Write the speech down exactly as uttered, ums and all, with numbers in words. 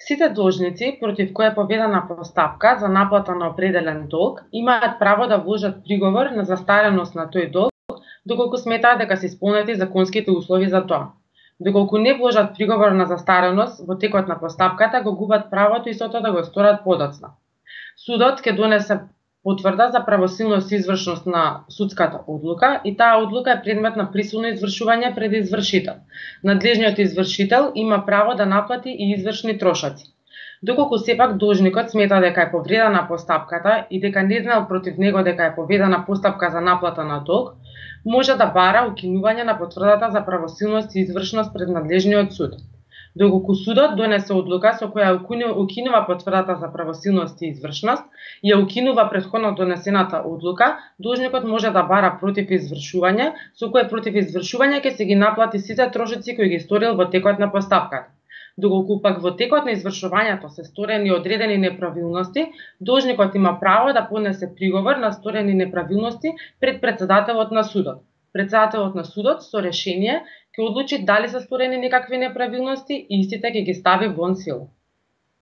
Сите должници против кои е поведена постапка за наплата на определен долг имаат право да вложат приговор на застареност на тој долг доколку сметаат дека се исполнети законските услови за тоа. Доколку не вложат приговор на застареност во текот на постапката, го губат правото истото да го сторат подоцна. Судот ќе донесе потврда за правосилност и извршност на судската одлука и таа одлука е предмет на присилно извршување пред извршител. Надлежниот извршител има право да наплати и извршни трошоци. Доколку сепак должникот смета дека е повредена постапката и дека не знаел против него дека е поведена постапка за наплата на долг, може да бара укинување на потврдата за правосилност и извршност пред надлежниот суд. Доколку судот донесе одлука со која укинува потврдата за правосилност и извршност и ја укинува претходно донесената одлука, должникот може да бара против извршување, со кое против извршување ќе се ги наплати сите трошоци кои ги сторил во текот на постапката. Доколку пак во текот на извршувањето се сторени одредени неправилности, должникот има право да поднесе приговор на сторени неправилности пред претседателот на судот. Претседателот на судот со решение ќе одлучи дали се сторени некакви неправилности и истите ќе ги стави вон сила.